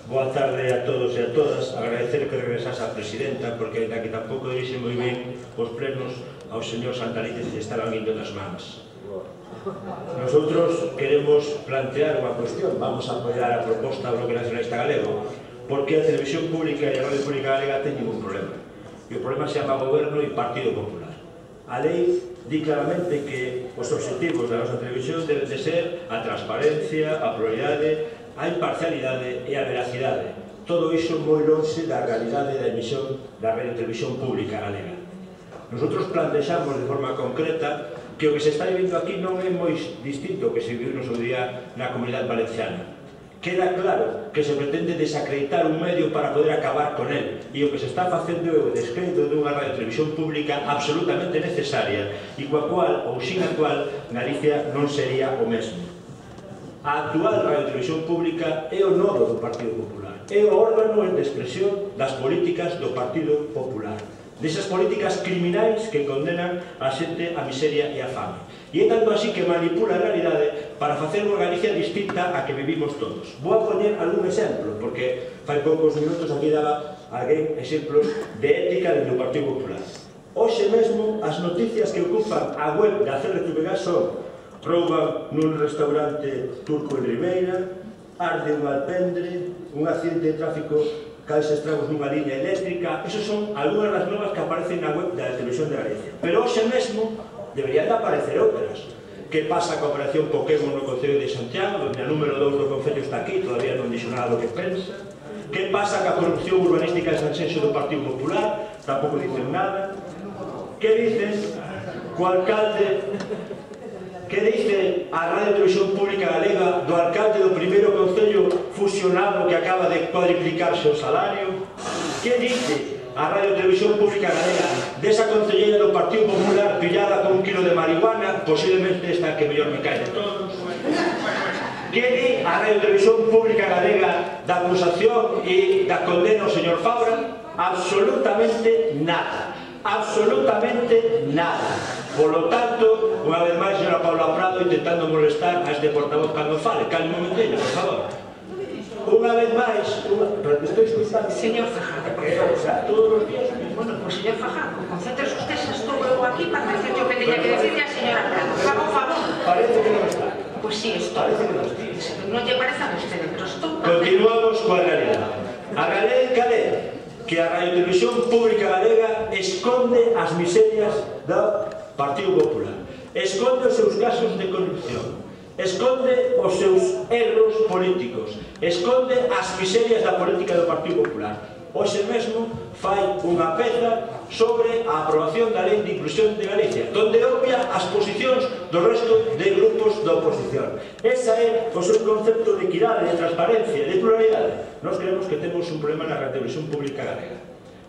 Boa tarde a todos e a todas. Agradecer que regresase a presidenta, porque ainda que tampouco dirixe moi ben os plenos, ao señor Santalices se estaban indo das mans. Nosotros queremos plantear unha cuestión. Vamos a apoiar a proposta do Bloque Nacionalista Galego, porque a Televisión Pública e a Radio Pública Galega teñen un problema. E o problema se chama Goberno e Partido Popular. A lei di claramente que os objetivos da nosa televisión deben de ser a transparencia, a pluralidade, a imparcialidade e a veracidade. Todo iso moi lonxe da realidade da emisión da Radio Televisión Pública Galega. Nosotros plantexamos de forma concreta que o que se está vivendo aquí non é moi distinto que se viviu no seu día na Comunidade Valenciana. Queda claro que se pretende desacreditar un medio para poder acabar con él, e o que se está facendo é o descrédito dunha radio televisión pública absolutamente necesaria e coa cual, ou sin a cual, Galicia non sería o mesmo. A actual radio televisión pública é o nodo do Partido Popular, é o órgano de expresión das políticas do Partido Popular, desas políticas criminais que condenan a xente a miseria e a fame. E é tanto así que manipula a realidade para facer unha Galicia distinta a que vivimos todos. Vou a poñer algún exemplo, porque fai poucos minutos aquí daba alguén exemplos de ética dentro do Partido Popular. Hoxe mesmo as noticias que ocupan a web da CRTVG son: rouban nun restaurante turco en Ribeira, arde un alpendre, un accidente de tráfico cause estragos nunha liña eléctrica. Esos son algunhas das novas que aparecen na web da Televisión de Galicia. Pero hoxe mesmo deberían de aparecer outras. Que pasa coa operación Pokémon no Concello de Santiago, onde a número 2 do Concello está aquí, todavía non dixo nada do que pensa. Que pasa coa corrupción urbanística de Sanxenxo do Partido Popular, tampouco dicen nada. Que dicen co alcalde, que dice a Radio Televisión Pública Galega do alcalde do primeiro concello fusionado que acaba de cuadriplicarse o salario? Que dice a Radio Televisión Pública Galega desa concelleira do Partido Popular pillada con un kilo de marihuana, posiblemente esta que mellor me cae de todos? Que di a Radio Televisión Pública Galega da acusación e da condena ao señor Fabra? Absolutamente nada. Absolutamente nada. Por lo tanto, unha vez máis, señora Paula Prado intentando molestar a este portavoz cando fale. Calme un momentinho, por favor. Unha vez máis, pero te estou escuchando. Señor Fajardo, por favor. O sea, todos os días. Bueno, pues señor Fajardo, concéntrese usted, se estuvo eu aquí para decir yo que tenía que decirle a señora Prado. Faga un favor. Parece que non está. Pues sí, estoy. Parece que non está. Non lle parece a usted, pero estou. Continuamos coa realidade. A realidade cal é? Que a Radio Televisión Pública Galega esconde as miserias do Partido Popular, esconde os seus casos de corrupción, esconde os seus erros políticos, esconde as miserias da política do Partido Popular. Hoxe mesmo fai unha peza sobre a aprobación da Lei de Inclusión de Galicia, donde obvia as posicións do resto de grupos da oposición. Esa é o seu concepto de equidade, de transparencia, de pluralidade. Nós creemos que temos un problema na Radio Televisión Pública Galega.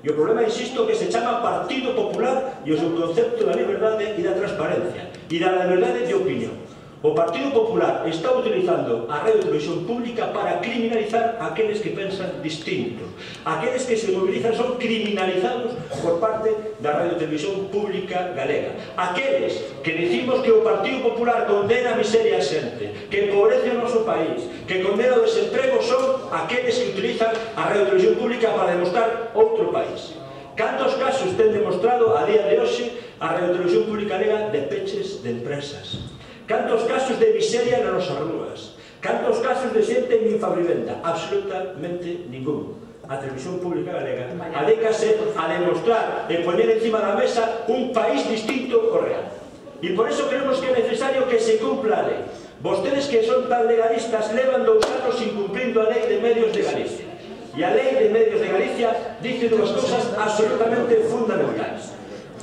E o problema, insisto, que se chama Partido Popular e o seu concepto da liberdade e da transparencia e da liberdade de opinión. O Partido Popular está utilizando a Radio Televisión Pública para criminalizar aqueles que pensan distinto. Aqueles que se movilizan son criminalizados por parte da Radio Televisión Pública Galega. Aqueles que dicimos que o Partido Popular condena a miseria a xente, que empobrece o noso país, que condena o desemprego, son aqueles que utilizan a Radio Televisión Pública para demostrar outro país. Cantos casos ten demostrado a día de hoxe a Radio Televisión Pública Galega de peches de empresas? Cantos casos de miseria nas nosas rúas? Cantos casos de xente en infravivienda? Absolutamente ningún. A Televisión Pública Galega adécase a demostrar e poñer encima da mesa un país distinto ao real. E por eso creemos que é necesario que se cumpla a lei. Vostedes que son tan legalistas levan 2 anos incumplindo a Lei de Medios de Galicia. E a Lei de Medios de Galicia dice dúas cousas absolutamente fundamentais: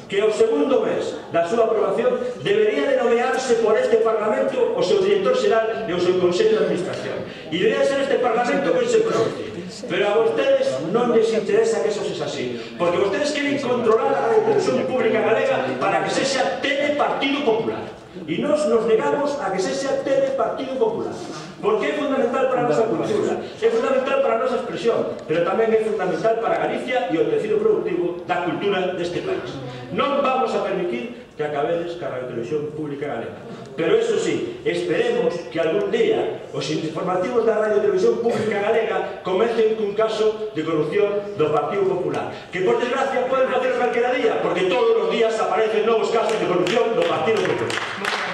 que ao segundo mes da súa aprobación debería de nomearse por este Parlamento o seu director xeral e o seu Consello de Administración. E debería ser este Parlamento que se pronuncie. Pero a vostedes non les interesa que eso sexa así, porque vostedes queren controlar a Radio Televisión Pública Galega para que sexa Telepartido Popular. E nos negamos a que sexa Telepartido Popular, porque é fundamental para a nosa cultura, é fundamental para a nosa expresión, pero tamén é fundamental para Galicia e o tecido productivo da cultura deste país. Non vamos a permitir que acabedes ca Radio Televisión Pública Galega. Pero eso sí, esperemos que algún día os informativos da Radio e Televisión Pública Galega comecen cun caso de corrupción do Partido Popular, que por desgracia poden facer calquera día, porque todos os días aparecen novos casos de corrupción do Partido Popular.